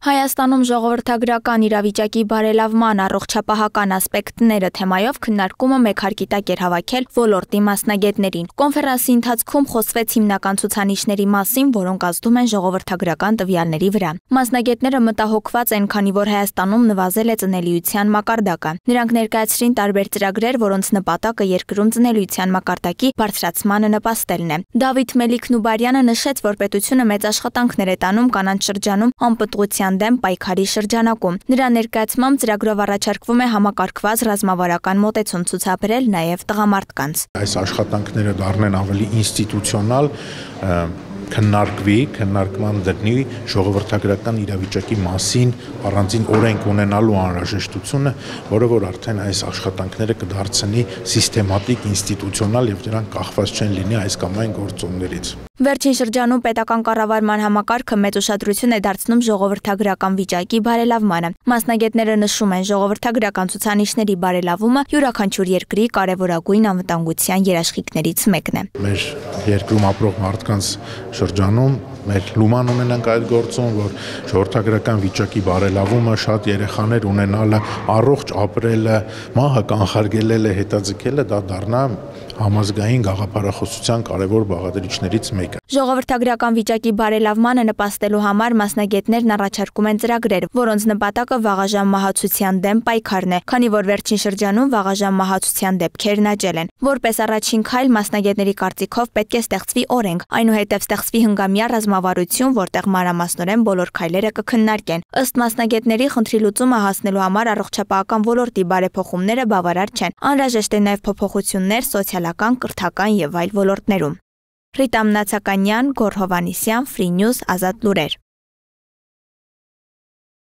Հայաստանում ժողովրդագրական իրավիճակի բարելավման առողջապահական ասպեկտները թեմայով քննարկումը մեկ հարկի տակ էր հավաքել ոլորտի մասնագետներին։ Կոնֆերանսի ընթացքում խոսվեց հիմնական ցուցանիշների մասին, որոնք ազդում են ժողովրդագրական տվյալների վրա։ Մասնագետները մտահոգված են, քանի որ Հայաստանում նվազել է ծնելիության մակարդակը։ Նրանք ներկայացրին տարբեր ծրագրեր, որոնց նպատակը երկրում ծնելիության մակարդակի բարձրացմանը նպաստելն է։ Դավիթ Մելիք-Նուբարյանը նշեց, որ պետությունը մեծ աշխատանքներ է տանում կանանց շրջանում անպտղության դեմ պայքարի շրջանակում։ Նրա ներկայացմամբ ծրագրով առաջարկվում է համակարգված ռազմավարական մոտեցում ցուցաբերել նաև տղամարդկանց։ Այս աշխատանքները դառնեն ավելի ինստիտուցիոնալ, քննարկման դրնի ժողովրդագրական իրավիճակի մասին առանձին օրենք ունենալու անհրաժեշտությունը, որը որ արդեն այս աշխատանքները կդարձնի սիստեմատիկ, ինստիտուցիոնալ եւ դրանք կախված չեն լինի այս կամ այն գործոններից։ Վերջին շրջանում պետական կառավարման համակարգը մեծ ուշադրություն է դարձնում ժողովրդագրական վիճակի բարելավմանը։ Մասնագետները նշում են, ժողովրդագրական ցուցանիշների բարելավումը յուրաքանչյուր երկրի կարևորագույն անվտանգության երաշխիքներից մեկն է։ Մեր երկրում ապրող մարդկանց շրջանում մեր լուման ունենանք այդ գործում, որ ժողովրդագրական վիճակի բարելավումը, շատ երեխաներ ունենալը, առողջ ապրելը, մահը կանխարգելելը, հետաձգելը դա դառնա համազգային գաղափարախոսության կարևոր բաղադրիչներից մեկը։ Ժողովրդագրական վիճակի բարելավմանը նպաստելու համար մասնագետներն առաջարկում են ծրագրեր, որոնց նպատակը վաղաժամ մահացության դեմ պայքարն է, քանի որ վերջին շրջանում վաղաժամ մահացության դեպքերն աճել են։ Որպես առաջին քայլ մասնագետների կարծիքով պետք է ստեղծվի օրենք, այնուհետև ստեղծվի հնգամյա ռազմավարություն, որտեղ մանրամասնորեն բոլոր քայլերը կքննարկեն։ Ըստ մասնագետների, խնդրի լուծումը հասնելու համար առողջապահական ոլորտի բարեփոխումները բավարար չեն։ Անհրաժեշտ է նաև փոփոխություններ սոցիալական, կրթական եւ այլ ոլորտներում։ Ռիտա Մնացականյան, Գոռ Հովհաննիսյան, Free News, Ազատ լուրեր։